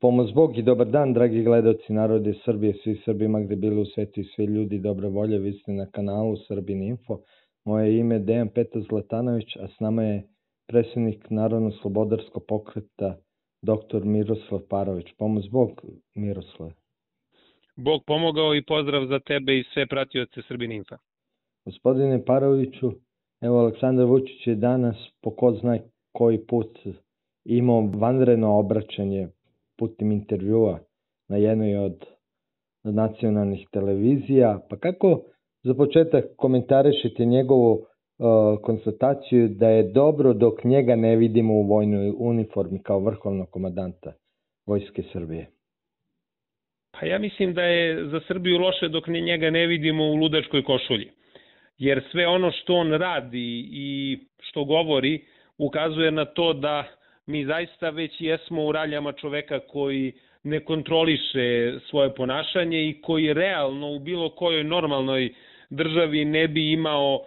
Pomoz Bog i dobar dan, dragi gledaoci narode Srbije, svi Srbima gde bili u svetu i svi ljudi dobre volje, vi ste na kanalu Srbin Info. Moje ime je Dejan Petar Zlatanović, a s nama je predsjednik Narodno-slobodarskog pokreta dr. Miroslav Parović. Pomoz Bog, Miroslav. Bog pomogao i pozdrav za tebe i sve pratioce Srbin Info. Gospodine Paroviću, evo Aleksandar Vučić je danas po ko zna koji put imao vanredno obraćanje putem intervjua na jednoj od nacionalnih televizija. Pa kako za početak komentarišete njegovu konstataciju da je dobro dok njega ne vidimo u vojnoj uniformi kao vrhovnog komandanta Vojske Srbije? Pa ja mislim da je za Srbiju loše dok njega ne vidimo u ludačkoj košulji. Jer sve ono što on radi i što govori ukazuje na to da mi zaista već jesmo u raljama čoveka koji ne kontroliše svoje ponašanje i koji realno u bilo kojoj normalnoj državi ne bi imao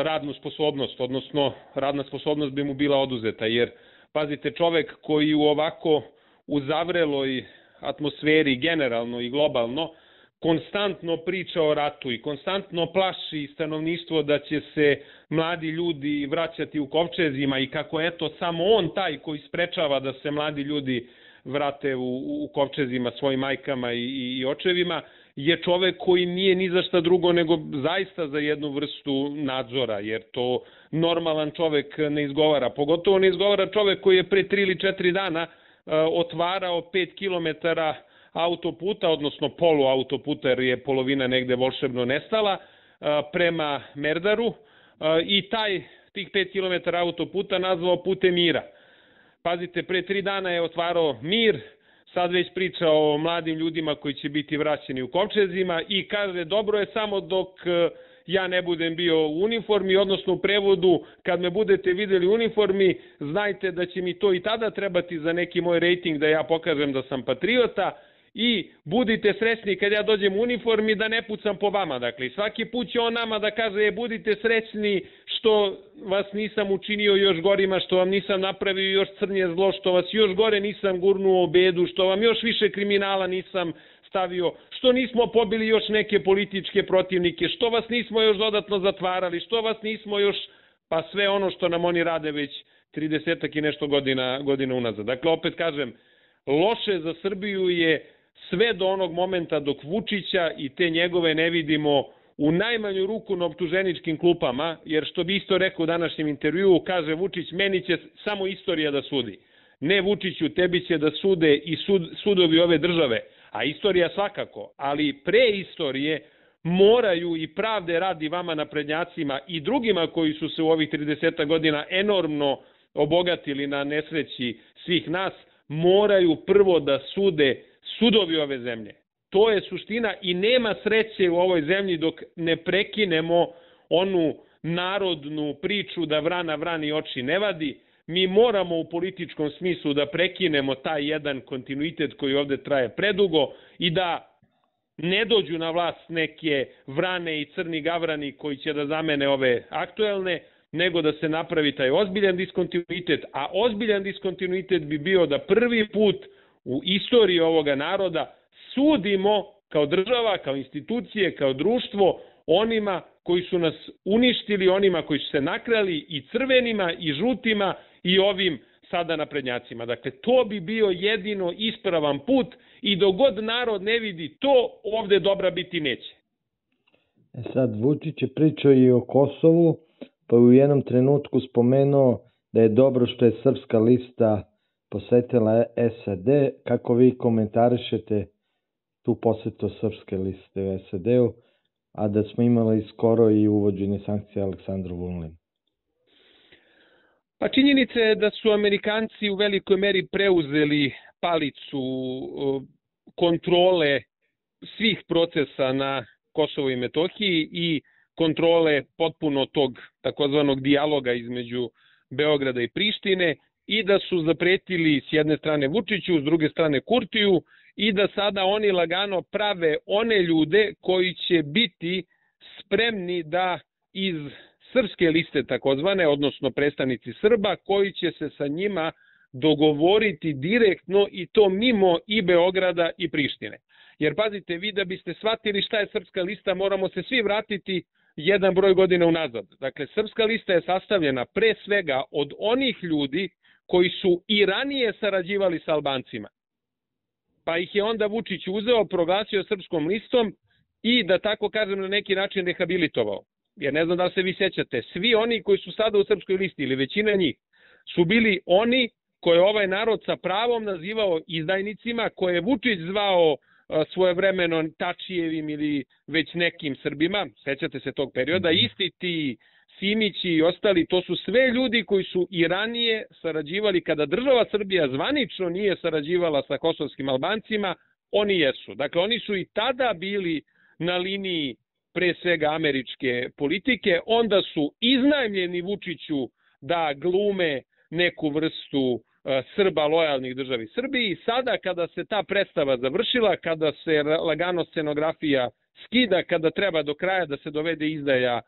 radnu sposobnost, odnosno radna sposobnost bi mu bila oduzeta. Jer, pazite, čovek koji u ovako u zavreloj atmosferi generalno i globalno konstantno priča o ratu i konstantno plaši stanovništvo da će se mladi ljudi vraćati u kovčezima i kako eto samo on taj koji sprečava da se mladi ljudi vrate u kovčezima svojim majkama i očevima, je čovek koji nije ni za šta drugo nego zaista za jednu vrstu nadzora, jer to normalan čovek ne izgovara. Pogotovo ne izgovara čovek koji je pre 3 ili 4 dana otvarao 5 kilometara autoputa, odnosno polu autoputa, jer je polovina negde volšebno nestala, prema Merdaru i tih 5 km autoputa nazvao putem mira. Pazite, pre 3 dana je otvarao mir, sad već priča o mladim ljudima koji će biti vraćeni u kovčezima i kaže dobro je samo dok ja ne budem bio u uniformi, odnosno u prevodu kad me budete videli u uniformi, znajte da će mi to i tada trebati za neki moj rejting da ja pokažem da sam patriota i budite srećni kad ja dođem u uniformi da ne pucam po vama. Dakle, svaki put će on nama da kaže budite srećni što vas nisam učinio još gorima, što vam nisam napravio još crnje zlo, što vas još gore nisam gurnuo u bedu, što vam još više kriminala nisam stavio, što nismo pobili još neke političke protivnike, što vas nismo još dodatno zatvarali, što vas nismo još, pa sve ono što nam oni rade već 30 i nešto godina unazad. Dakle, opet kažem, loše za Srbiju je sve do onog momenta dok Vučića i te njegove ne vidimo u najmanju ruku na optuženičkim klupama, jer što bi isto rekao u današnjem intervjuu, kaže Vučić, meni će samo istorija da sudi. Ne Vučiću, tebi će da sude i sudovi ove države, a istorija svakako, ali pre istorije moraju i pravde radi vama naprednjacima i drugima koji su se u ovih 30 godina enormno obogatili na nesreći svih nas, moraju prvo da sude sudovi ove zemlje. To je suština i nema sreće u ovoj zemlji dok ne prekinemo onu narodnu priču da vrana vrani oči ne vadi. Mi moramo u političkom smislu da prekinemo taj jedan kontinuitet koji ovde traje predugo i da ne dođu na vlast neke vrane i crni gavrani koji će da zamene ove aktuelne, nego da se napravi taj ozbiljan diskontinuitet, a ozbiljan diskontinuitet bi bio da prvi put u istoriji ovoga naroda sudimo kao država, kao institucije, kao društvo onima koji su nas uništili, onima koji su se nakrali i crvenima i žutima i ovim sada naprednjacima. Dakle, to bi bio jedino ispravan put i dok god narod ne vidi to, ovde dobra biti neće. Sad, Vučić je pričao i o Kosovu, pa u jednom trenutku spomenuo da je dobro što je Srpska lista posetila SAD. Kako vi komentarišete tu posetu Srpske liste u SAD-u, a da smo imali skoro i uvođenje sankcija Aleksandru Vulinu? Pa činjenica je da su Amerikanci u velikoj meri preuzeli palicu kontrole svih procesa na Kosovu i Metohiji i kontrole potpuno tog takozvanog dijaloga između Beograda i Prištine i da su zapretili s jedne strane Vučiću, s druge strane Kurtiju i da sada oni lagano prave one ljude koji će biti spremni da iz srpske liste takozvane, odnosno predstavnici Srba, koji će se sa njima dogovoriti direktno i to mimo i Beograda i Prištine. Jer pazite, vi da biste shvatili šta je Srpska lista, moramo se svi vratiti jedan broj godina unazad. Dakle, Srpska lista je sastavljena pre svega od onih ljudi koji su i ranije sarađivali sa Albancima. Pa ih je onda Vučić uzeo, proglasio Srpskom listom i, da tako kažem, na neki način rehabilitovao. Jer ne znam da li se vi sjećate, svi oni koji su sada u Srpskoj listi, ili većina njih, su bili oni koje ovaj narod sa pravom nazivao izdajnicima, koje je Vučić zvao svojevremeno Tačijevim ili već nekim Srbima, sećate se tog perioda, isti ti Simići i ostali, to su sve ljudi koji su i ranije sarađivali, kada država Srbija zvanično nije sarađivala sa kosovskim Albancima, oni jesu. Dakle, oni su i tada bili na liniji pre svega američke politike, onda su iznajmljeni Vučiću da glume neku vrstu Srba lojalnih državi Srbiji. Sada kada se ta predstava završila, kada se lagano scenografija skida, kada treba do kraja da se dovede izdaja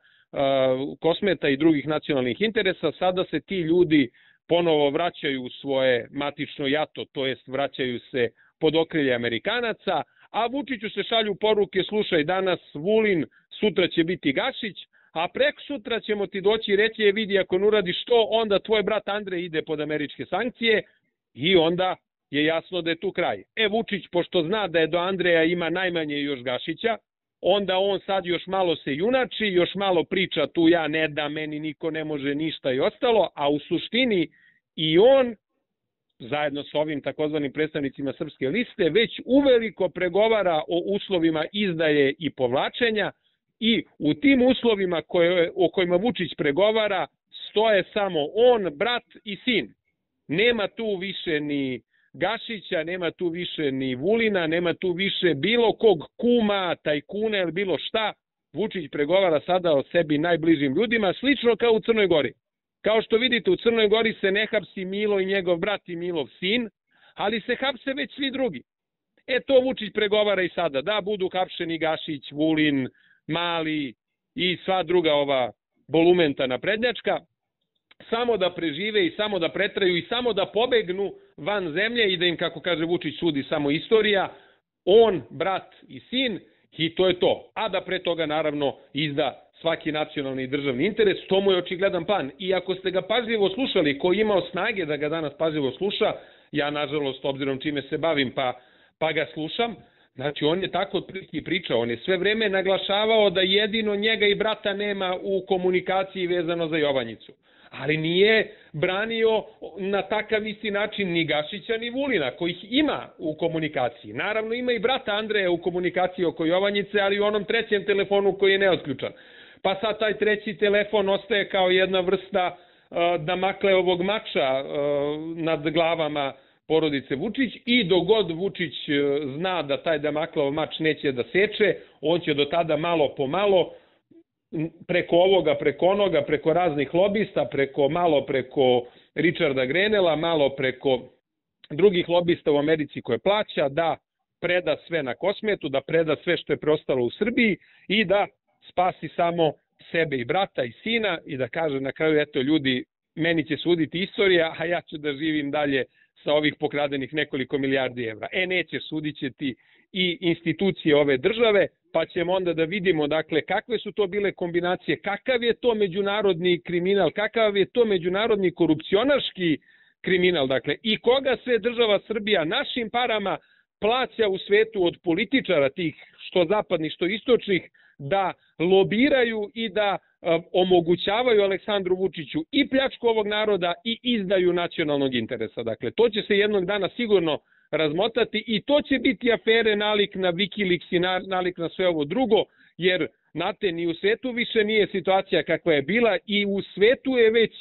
Kosmeta i drugih nacionalnih interesa, sada se ti ljudi ponovo vraćaju u svoje matično jato, to jest vraćaju se pod okrilje Amerikanaca, a Vučiću se šalju poruke, slušaj, danas Vulin, sutra će biti Gašić, a prek sutra ćemo ti doći i reći, vidi, ako ne uradiš to, onda tvoj brat Andrej ide pod američke sankcije i onda je jasno da je tu kraj. Vučić, pošto zna da je do Andreja ima najmanje još Gašića, onda on sad još malo se junači, još malo priča tu ja ne da, meni niko ne može ništa i ostalo, a u suštini i on, zajedno sa ovim takozvanim predstavnicima Srpske liste, već uveliko pregovara o uslovima izdaje i povlačenja i u tim uslovima o kojima Vučić pregovara stoje samo on, brat i sin. Nema tu više ni Gašića, nema tu više ni Vulina, nema tu više bilo kog kuma, tajkuna ili bilo šta. Vučić pregovara sada o sebi najbližim ljudima, slično kao u Crnoj Gori. Kao što vidite, u Crnoj Gori se ne hapsi Milo i njegov brat i Milov sin, ali se hapse već svi drugi. To Vučić pregovara i sada, da budu hapšeni Gašić, Vulin, Mali i sva druga ova bolumenta naprednjačka, samo da prežive i samo da pretraju i samo da pobegnu van zemlje i da im, kako kaže Vučić, sudi samo istorija, on, brat i sin, i to je to. A da pre toga, naravno, izda svaki nacionalni i državni interes, to mu je očigledan plan. I ako ste ga pažljivo slušali, ko je imao snage da ga danas pažljivo sluša, ja, nažalost, obzirom čime se bavim, pa ga slušam, znači on je tako otprilike pričao, on je sve vreme naglašavao da jedino njega i brata nema u komunikaciji vezano za Jovanjicu. Ali nije branio na takav isti način ni Gašića ni Vulina, kojih ima u komunikaciji. Naravno ima i brata Andreja u komunikaciji oko Jovanjice, ali u onom trećem telefonu koji je neotključan. Pa sad taj treći telefon ostaje kao jedna vrsta Damakleovog mača nad glavama porodice Vučić i dogod Vučić zna da taj Damakleov mač neće da seče, on će do tada malo po malo preko ovoga, preko onoga, preko raznih lobista, malo preko Richarda Grenela, malo preko drugih lobista u Americi koje plaća, da preda sve na Kosmetu, da preda sve što je preostalo u Srbiji i da spasi samo sebe i brata i sina i da kaže na kraju, eto ljudi, meni će suditi istorija, a ja ću da živim dalje sa ovih pokradenih nekoliko milijardi evra. Neće, sudit će ti i institucije ove države, pa ćemo onda da vidimo, dakle, kakve su to bile kombinacije, kakav je to međunarodni kriminal, kakav je to međunarodni korupcionaški kriminal, dakle, i koga sve država Srbija našim parama plaća u svetu od političara tih, što zapadnih, što istočnih, da lobiraju i da omogućavaju Aleksandru Vučiću i pljačku ovog naroda i izdaju nacionalnog interesa. Dakle, to će se jednog dana sigurno razmotati i to će biti afere nalik na Wikileaks i nalik na sve ovo drugo, jer, znate, ni u svetu više nije situacija kakva je bila i u svetu je već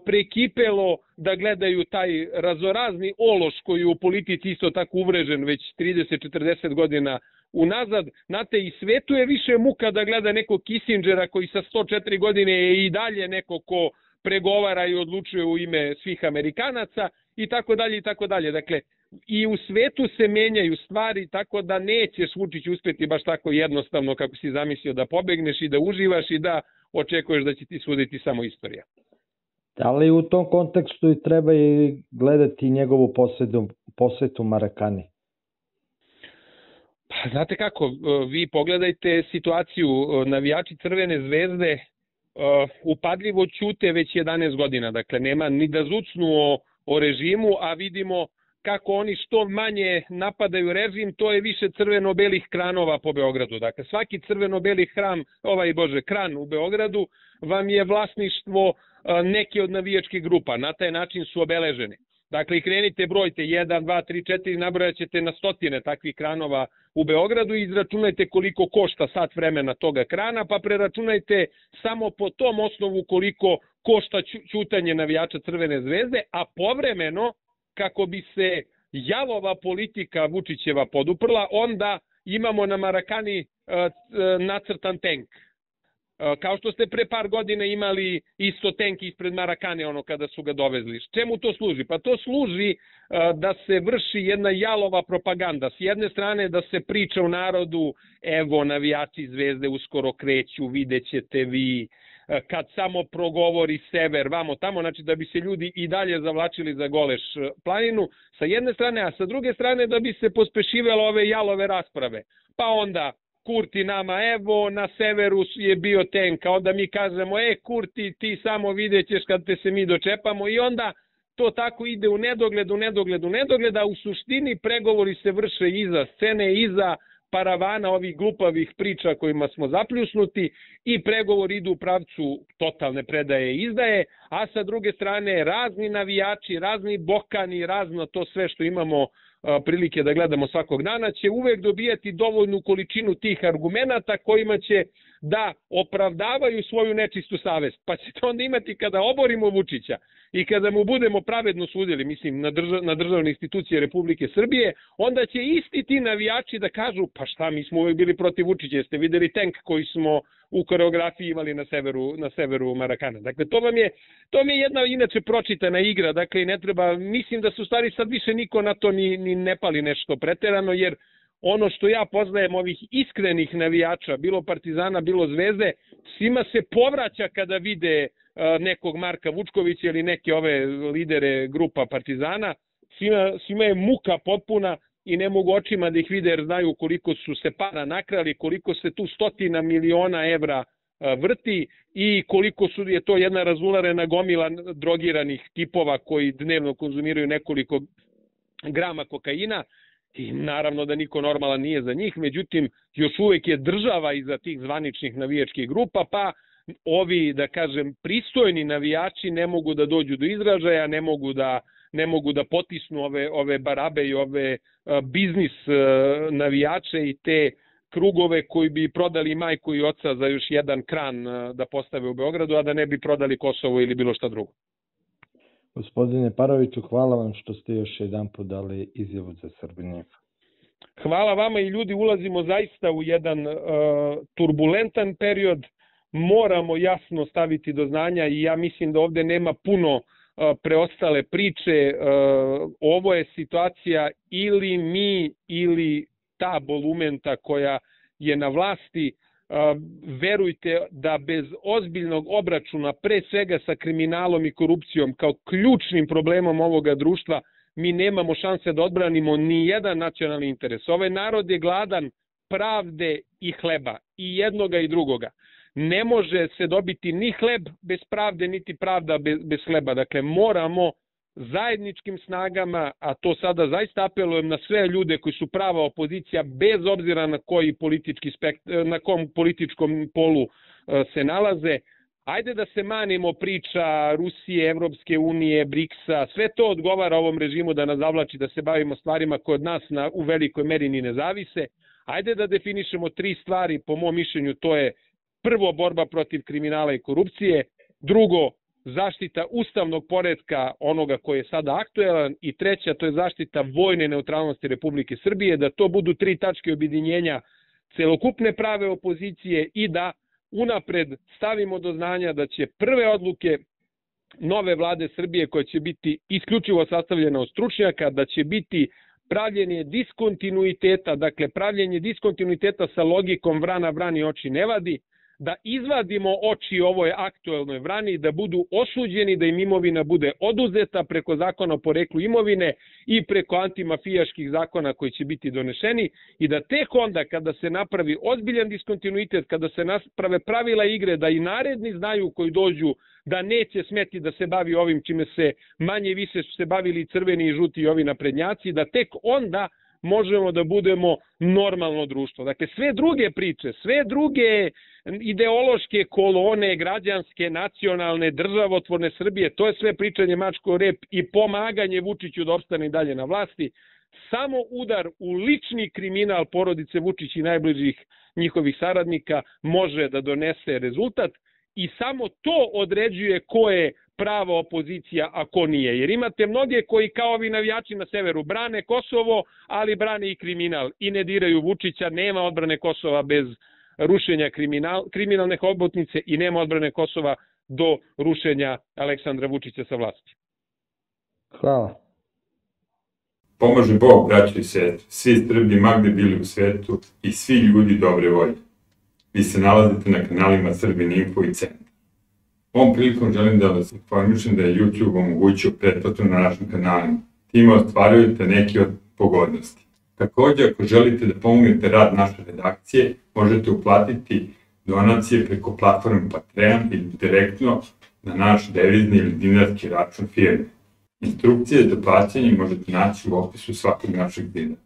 prekipelo da gledaju taj razorazni ološ koji je u politici isto tako uvrežen već 30-40 godina unazad. Znate, i svetu je više muka da gleda nekog Kissingera koji sa 104 godine je i dalje neko ko pregovara i odlučuje u ime svih Amerikanaca i tako dalje i tako dalje. Dakle, i u svetu se menjaju stvari, tako da nećeš, Vučić, uspeti baš tako jednostavno kako si zamislio da pobegneš i da uživaš i da očekuješ da će ti suditi samo istorija. Da li u tom kontekstu i treba i gledati njegovu posetu Marakani? Pa, znate kako, vi pogledajte situaciju, navijači Crvene zvezde upadljivo ćute već 11 godina, dakle nema ni da zucnu o režimu, a vidimo kako oni što manje napadaju režim, to je više crveno-belih kranova po Beogradu. Dakle, svaki crveno-beli kran u Beogradu vam je vlasništvo neke od navijačkih grupa. Na taj način su obeležene. Dakle, krenite, brojte 1, 2, 3, 4, nabrojat ćete na stotine takvih kranova u Beogradu i izračunajte koliko košta sat vremena toga krana, pa preračunajte samo po tom osnovu koliko košta ćutanje navijača Crvene zvezde, a povremeno, kako bi se jalova politika Vučićeva poduprla, onda imamo na Marakani nacrtan tenk. Kao što ste pre par godina imali isto tenk ispred Marakane, kada su ga dovezli. Čemu to služi? Pa to služi da se vrši jedna jalova propaganda. S jedne strane da se priča u narodu, evo navijači Zvezde uskoro kreću, vidjet ćete vi, kad samo progovori sever, vamo tamo, znači da bi se ljudi i dalje zavlačili za Goleš planinu, sa jedne strane, a sa druge strane da bi se pospešivalo ove jalove rasprave. Pa onda Kurti nama, evo na severu je bio tenk, a onda mi kažemo, Kurti, ti samo vidjet ćeš kad te se mi dočepamo, i onda to tako ide u nedogled, a u suštini pregovori se vrše iza scene, iza paravana ovih glupavih priča kojima smo zapljusnuti, i pregovori idu u pravcu totalne predaje i izdaje, a sa druge strane razni navijači, razni bokani, razno to sve što imamo prilike da gledamo svakog dana, će uvek dobijati dovoljnu količinu tih argumenata kojima će da opravdavaju svoju nečistu savest. Pa ćete onda imati, kada oborimo Vučića i kada mu budemo pravedno sudili, mislim na državne institucije Republike Srbije, onda će isti ti navijači da kažu, pa šta, mi smo uvek bili protiv Vučića, jeste videli tenk koji smo u koreografiji imali na severu Marakana. Dakle, to mi je jedna inače pročitana igra, dakle, ne treba, mislim da se u stvari sad više niko na to ni ne pali nešto preterano, jer ono što ja poznajem ovih iskrenih navijača, bilo Partizana, bilo Zvezde, svima se povraća kada vide nekog Marka Vučkovića ili neke ove lidere grupa Partizana, svima je muka potpuna i ne mogu očima da ih vide jer znaju koliko su se para nakrali, koliko se tu 100 miliona evra vrti i koliko je to jedna razularena gomila drogiranih tipova koji dnevno konzumiraju nekoliko grama kokaina. I naravno da niko normalan nije za njih, međutim još uvek je država iza tih zvaničnih navijačkih grupa, pa ovi, da kažem, pristojni navijači ne mogu da dođu do izražaja, ne mogu da potisnu ove barabe i ove biznis navijače i te krugove koji bi prodali majku i oca za još jedan kran da postave u Beogradu, a da ne bi prodali Kosovo ili bilo šta drugo. Gospodine Paroviću, hvala vam što ste još jedan put dali izjavu za Srbin. Hvala vama i ljudi, ulazimo zaista u jedan turbulentan period, moramo jasno staviti do znanja i ja mislim da ovde nema puno preostale priče, ovo je situacija ili mi ili ta bolumenta koja je na vlasti. Verujte da bez ozbiljnog obračuna, pre svega sa kriminalom i korupcijom kao ključnim problemom ovoga društva, mi nemamo šanse da odbranimo ni jedan nacionalni interes. Ovaj narod je gladan pravde i hleba, i jednoga i drugoga. Ne može se dobiti ni hleb bez pravde, niti pravda bez hleba. Dakle, moramo zajedničkim snagama, a to sada zaista apelujem na sve ljude koji su prava opozicija, bez obzira na na kom političkom polu se nalaze, ajde da se manimo priča Rusije, Evropske unije, BRICS-a, sve to odgovara ovom režimu da nas zavlači, da se bavimo stvarima koje od nas u velikoj meri ni ne zavise. Ajde da definišemo 3 stvari, po mom mišljenju, to je prvo borba protiv kriminala i korupcije, drugo zaštita ustavnog poretka onoga koji je sada aktuelan i treća, to je zaštita vojne neutralnosti Republike Srbije, da to budu 3 tačke objedinjenja celokupne prave opozicije i da unapred stavimo do znanja da će prve odluke nove vlade Srbije, koja će biti isključivo sastavljena od stručnjaka, da će biti pravljenje diskontinuiteta, dakle pravljenje diskontinuiteta sa logikom vrana vrani oči ne vadi, da izvadimo oči ovoj aktuelnoj vrani, da budu osuđeni, da im imovina bude oduzeta preko zakona o poreklu imovine i preko antimafijaških zakona koji će biti donešeni i da tek onda kada se napravi ozbiljan diskontinuitet, kada se naprave pravila igre, da i naredni znaju koji dođu da neće smeti da se bavi ovim čime se manje više su se bavili crveni i žuti i ovi naprednjaci, da tek onda možemo da budemo normalno društvo. Dakle, sve druge priče, sve druge ideološke kolone, građanske, nacionalne, državotvorne Srbije, to je sve pričanje mačko rep i pomaganje Vučiću da opstane dalje na vlasti. Samo udar u lični kriminal porodice Vučić i najbližih njihovih saradnika može da donese rezultat i samo to određuje ko je prava opozicija, a ko nije. Jer imate mnoge koji kao ovi navijači na severu brane Kosovo, ali brane i kriminal i ne diraju Vučića, nema odbrane Kosova bez rušenja kriminalne hobotnice i nema odbrane Kosova do rušenja Aleksandra Vučića sa vlasti. Hvala. Pomaže Bog, braćo i sestre, svi Srbi magde bili u svetu i svi ljudi dobre volje. Vi se nalazite na kanalima Srbin Info i Centar. Ovom prilikom želim da vas informišem da je YouTube omogućio pretplatu na našim kanalima. Time ostvarujete neke od pogodnosti. Također, ako želite da pomognete rad naše redakcije, možete uplatiti donacije preko platforme Patreon ili direktno na naš devizni ili dinarski račun firme. Instrukcije za plaćanje možete naći u opisu svakog našeg videa.